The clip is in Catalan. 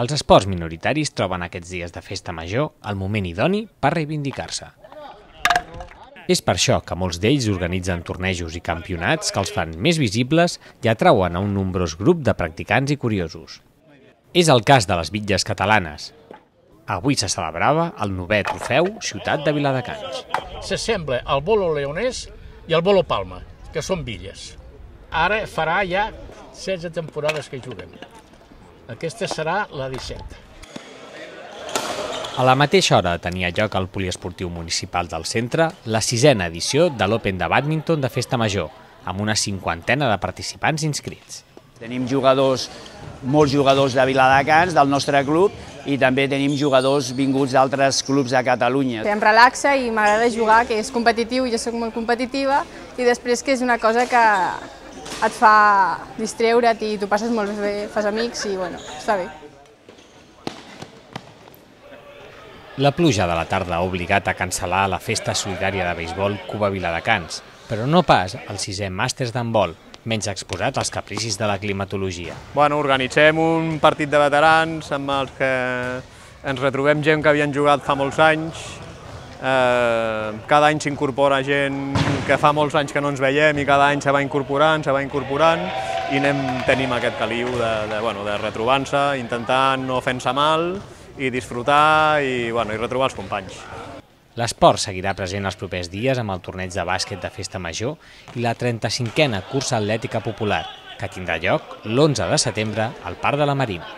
Els esports minoritaris troben aquests dies de festa major el moment idoni per reivindicar-se. És per això que molts d'ells organitzen tornejos i campionats que els fan més visibles i atrauen a un nombrós grup de practicants i curiosos. És el cas de les bitlles catalanes. Avui se celebrava el 9è trofeu Ciutat de Viladecans. S'assembla al bolo leonès i al bolo palma, que són bitlles. Ara farà ja 16 temporades que juguem. Aquesta serà la 17. A la mateixa hora tenia lloc al poliesportiu municipal del centre la 6a edició de l'Open de Bàdminton de Festa Major, amb una 50ena de participants inscrits. Tenim molts jugadors de Viladecans, del nostre club, i també tenim jugadors vinguts d'altres clubs de Catalunya. Em relaxa i m'agrada jugar, que és competitiu, jo soc molt competitiva, i després que és una cosa que et fa distreure't i t'ho passes molt bé, fas amics i bueno, està bé. La pluja de la tarda ha obligat a cancel·lar la festa solidària de beisbol Cuba Viladecans, però no pas el 6è màsters d'handbol, menys exposat als capricis de la climatologia. Organitzem un partit de veterans amb els que ens retrobem gent que havien jugat fa molts anys. Cada any s'incorpora gent que fa molts anys que no ens veiem i cada any se va incorporant i tenim aquest caliu de retrobar-se, intentant no fent-se mal i disfrutar i retrobar els companys. L'esport seguirà present els propers dies amb el torneig de bàsquet de Festa Major i la 35a cursa atlètica popular, que tindrà lloc l'11 de setembre al Parc de la Marina.